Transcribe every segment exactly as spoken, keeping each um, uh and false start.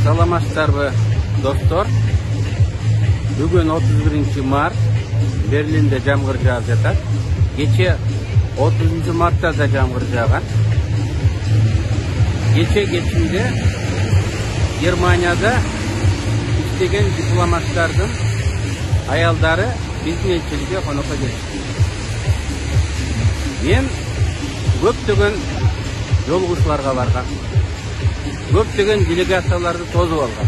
Саламатсыздарбы, достор? Бүгүн отуз биринчи март, Берлинде жамгыр жаап жатат. Кече отузунчу мартта да жамгыр жааган. Кече кечинде Германияда иштеген дипломаттардын аялдары биздин элчиликке конокко келишти. Мен көптөгөн жолугушууларга баргам. Көптөгөн делегацияларды тосуп алгам.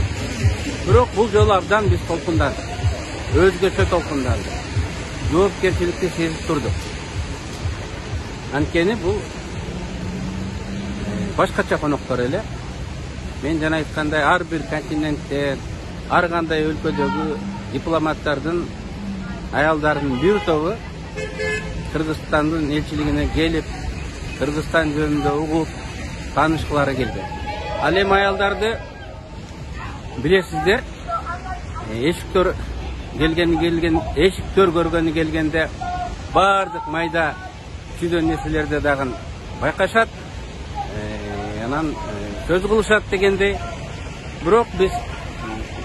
Бирок бул жолу абдан биз толкундадык. Өзгөчө толкундадык. Жоопкерчиликти сезип турдук. Анткени бул башкача коноктор эле. Мен жана айткандай ар бир континенттен, ар кандай өлкөдөгү дипломаттардын аялдарынын бир тобу Кыргызстандын элчилигине келип, Кыргызстан жөнүндө угуп, таанышкылары келген. Ал эми аялдарды билесиздер, эшиктөр келгени келген, эшиктөр көргөнү келгенде баардык майда чүйдөн нерселерди дагы байкашат, анан сөз кылышат дегендей. Бирок биз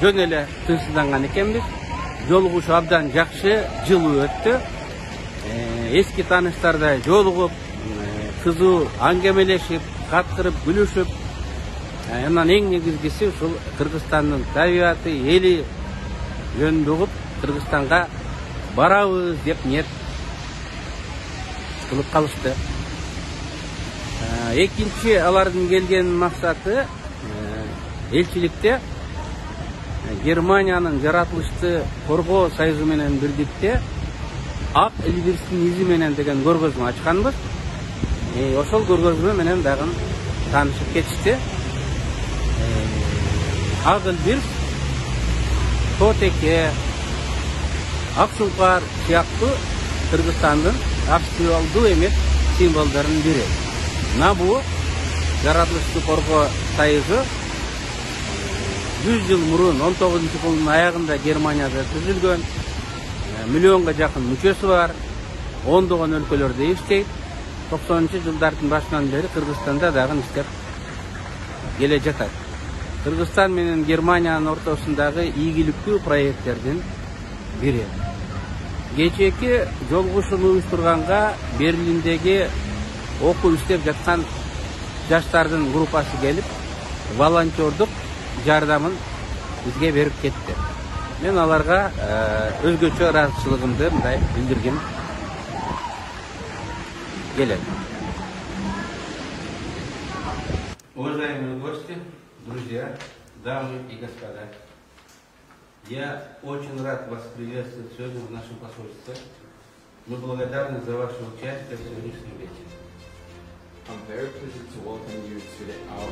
жөн эле тынчсызданган экенбиз. Жолугушуу абдан жакшы, жылуу өттү. Эски тааныштардай жолугуп, кызуу аңгемелешип, каткырып, күлүшүп, анан эң негизгиси ушул Кыргызстандын табигаты, эли жөнүндө угуп, Кыргызстанга барабыз деп ниет кылып калышты. Экинчи алардын келген максаты элчиликте Германиянын жаратылышты коргоо союзу менен бирдикте Ак Эльбирстин изи менен деген көргөзмө ачканбыз. Ошол көргөзмө менен дагы таанышып кетишти. Ак Эльбирс, Тотеке, Ак Сулкар сыяктуу Кыргызстандын актуалдуу эмес символдорунун бири. Мына бул жаратылышты коргоо союзу жүз жыл мурун он тогузунчу жылдын аягында Германияда түзүлгөн. Миллионго жакын мүчөсү бар, ондогон өлкөлөрдө иштейт. токсонунчу жылдардын башынан бери Кыргызстанда дагы иштеп келе жатат. Кыргызстан менен Германиянын ортосундагы ийгиликтүү проекттердин бири. Кечээки жолугушууну уюштурганга Берлиндеги окуп иштеп жаткан жаштардын группасы келип, волонтердук жардамын бизге берип кетти. Мен аларга өзгөчө ыраазычылыгымды мындай билдиргим келет. Уважаемые гости, друзья, дамы и господа, я очень рад вас приветствовать сегодня в нашем посольстве. Мы благодарны за ваше участие в сегодняшнем вечере. I'm very pleased to welcome you to the, our